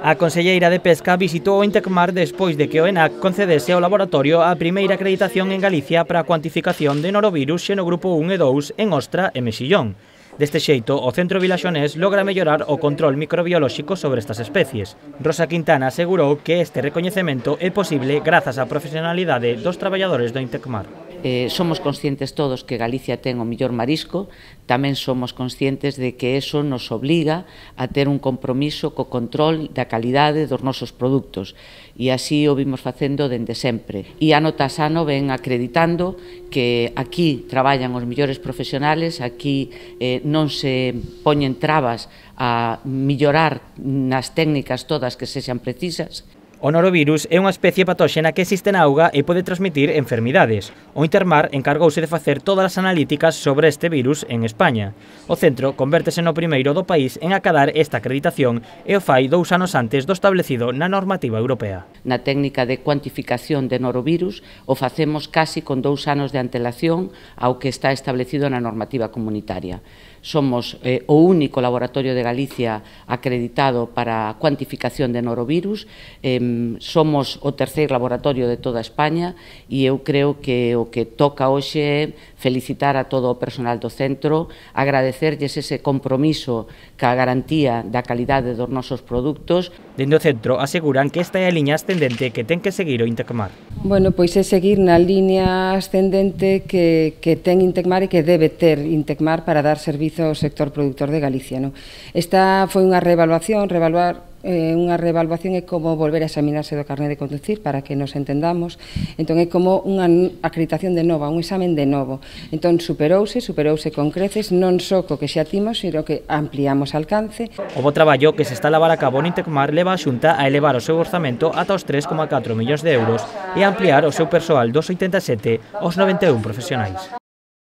A conselleira de Pesca visitou o Intecmar despois de que o ENAC concedese ao laboratorio a primeira acreditación en Galicia para a cuantificación de norovirus xenogrupo 1 e 2 en ostra e mexillón. Deste xeito, o Centro Vilaxonés logra mellorar o control microbiolóxico sobre estas especies. Rosa Quintana asegurou que este recoñecemento é posible grazas á profesionalidade dos traballadores do Intecmar. Somos conscientes todos que Galicia ten o mellor marisco, tamén somos conscientes de que eso nos obliga a ter un compromiso co control da calidade dos nosos produtos e así o vimos facendo dende sempre. E ano tras ano ven acreditando que aquí traballan os mellores profesionales, aquí non se poñen trabas a mellorar nas técnicas todas que sexan precisas. O norovirus é unha especie patóxena que existe na auga e pode transmitir enfermidades. O Intermar encargouse de facer todas as analíticas sobre este virus en España. O centro convértese no primeiro do país en acadar esta acreditación e o fai 2 anos antes do establecido na normativa europea. Na técnica de cuantificación de norovirus o facemos casi con 2 anos de antelación ao que está establecido na normativa comunitaria. Somos o único laboratorio de Galicia acreditado para a cuantificación de norovirus, somos o terceiro laboratorio de toda España e eu creo que o que toca hoxe é felicitar a todo o personal do centro, agradecerlles ese compromiso ca garantía da calidade dos nosos produtos. Dende o centro aseguran que esta é a liña ascendente que ten que seguir o Intecmar. Bueno, pois é seguir na liña ascendente que ten Intecmar e que debe ter Intecmar para dar servizo ao sector productor de Galicia. Esta foi unha reevaluación, unha reevaluación é como volver a examinarse do carné de conducir para que nos entendamos, entón é como unha acreditación de nova, un examen de novo, entón superouse con creces, non só co que xa timos, sino que ampliamos alcance. O bo traballo que se está a levar a cabo no Intecmar leva a Xunta a elevar o seu orzamento ata os 3,4 millóns de euros e a ampliar o seu persoal dos 87 aos 91 profesionais.